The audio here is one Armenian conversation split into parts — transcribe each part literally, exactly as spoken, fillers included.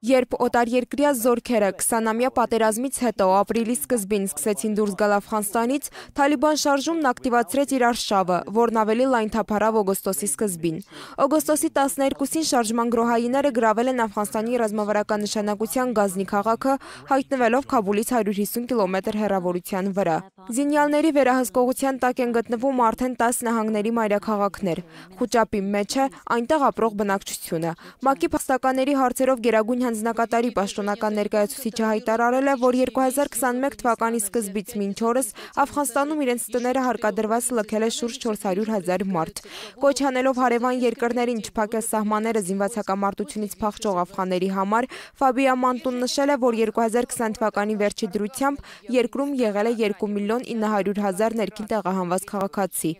Երբ օտարերկրյա զորքերը քսանամյա պատերազմից հետո ապրիլի սկզբին սկսեցին դուրս գալ Աֆղանստանից, Թալիբան շարժումն ակտիվացրեց իր արշավը, որն ավելի լայն թափառավ օգոստոսի սկզբին։ Օգոստոսի տասներկուսին շարժման գրոհայինները գրավել են Աֆղանստանի ռազմավարական նշանակության Գազնի քաղաքը, հայտնվելով Քաբուլից հարյուր հիսուն կիլոմետր հեռավորության վրա։ Զինյալների վերահսկողության տակ են գտնվում արդեն տաս նահանգների մայրաքաղաքներ։ Խուճապի մեջ է այնտեղ ապրող բնակչությունը։ ՄԱԿ-ի փաստականների հարցերով Գերագույն հանձնակատարի պաշտոնական ներկայացուցիչը հայտարարել է, որ երկու հազար քսաներկու թվականի սկզբից մինչ օրս Աֆղանստանում իրենց տները հարկադրված լքել է շուրջ չորս հարյուր հազար մարդ։ Կոչ անելով հարևան երկրներին չփակել սահմանները զինված հակամարտությունից փախչող աֆղանների համար, Ֆաբիա Մանտուն նշել է, որ երկու հազար քսան թվականի վերջի դրությամբ երկրում եղել է երկու միլիոն ինը հարյուր հազար ներքին տեղահանված քաղաքացի։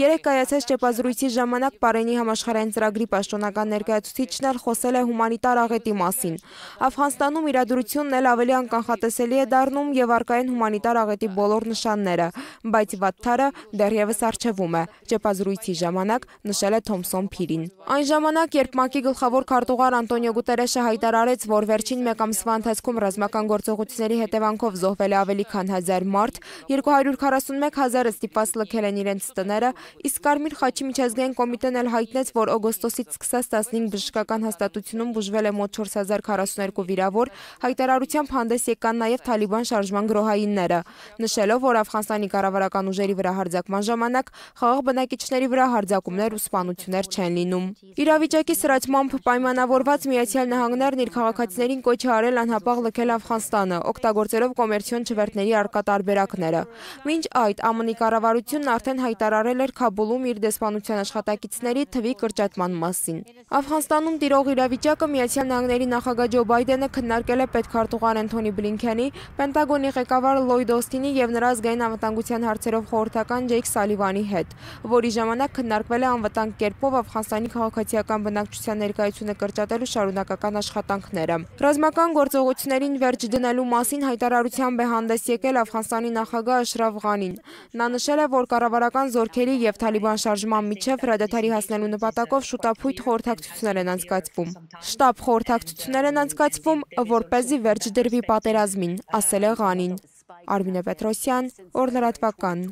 Երեկ կայացած ճեպազրույցի ժամանակ Պարենի համաշխարհային ծրագրի պաշտոնական ներկայացուցիչն էլ խոսել է հումանիտար աղետի մասին։ Աֆղանստանում իրադրությունն էլ ավելի անկանխատեսելի է դառնում եւ առկա են հումանիտար աղետի բոլոր նշանները, բայց վատթարը դեռևս առջևում է, ճեպազրույցի ժամանակ նշել է Թոմսոն Փիրին։ Այն ժամանակ, երբ ՄԱԿ-ի գլխավոր քարտուղար Անտոնիո Գուտերեշը հայտարարեց, որ վերջին մեկ ամսվա ընթացքում ռազմական գործողությունների հետևանքով զոհվել է ավելի քան հազար մարդ, երկու հարյուր քառասունմեկ հազարը ստիպված լքել են իրենց տները, իսկ Կարմիր խաչի միջազգային կոմիտեն էլ հայտնեց, որ օգոստոսից սկսած տասնհինգ բժշկական հաստատությունում բուժվել է մոտ չորս հազար քառասուններկու վիրավոր, հայտարարությամբ հանդես եկան նաև Թալիբան շարժման գրոհայինները, նշելով, որ Աֆղանստանի կառավարական ուժերի վրա հարձակման ժամանակ խաղաղ բնակիչների վրա հարձակումներ ու սպանություններ չեն լինում։ Իրավիճակի սրացմամբ պայմանավորված Միացյալ Նահանգներն իր քաղաքացիներին կոչ է արել անհապաղ լքել Աֆղանստանը, օգտագործելով կոմերցիոն չվերթների առկա տարբերակները։ Մինչ այդ ԱՄՆ-ի կառավարությունն արդեն հայտարարել էր Քաբուլում իր դեսպանության աշխատակիցների թվի կրճատման մասին։ Աֆղանստանում տիրող իրավիճակը Միացյալ Նահանգների նախագահ Ջո Բայդենը քննարկել է պետքարտուղար Էնթոնի Բլինքենի, Պենտագոնի ղեկավար Լլոյդ Օսթինի եւ նրա ազգային անվտանգության հարցերով խորհրդական Ջեյք Սալիվանի հետ, որի ժամանակ քննարկվել է անվտանգ կերպով Աֆղանստանի քաղաքացիական բնակչության ներկայությունը կրճատելու շարունակական աշխատանքները։ Ռազմական գործողություններին վերջ դնելու մասին հայտարարությամբ է հանդես եկել Աֆղանստանի նախագահ Աշրաֆ Ղանին։ Նա նշել է, որ կառավարական զորքերի եւ Թալիբան շարժման միջև հրադադարի հասնելու նպատակով շուտափույթ խորհրդակցություններ են անցկացվում։ Շտաբ խորհրդակցություններ են անցկացվում, որպեսզի վերջ դրվի պատերազմին, ասել է Ղանին։ Արմինե Պետրոսյան, Օր լրատվական։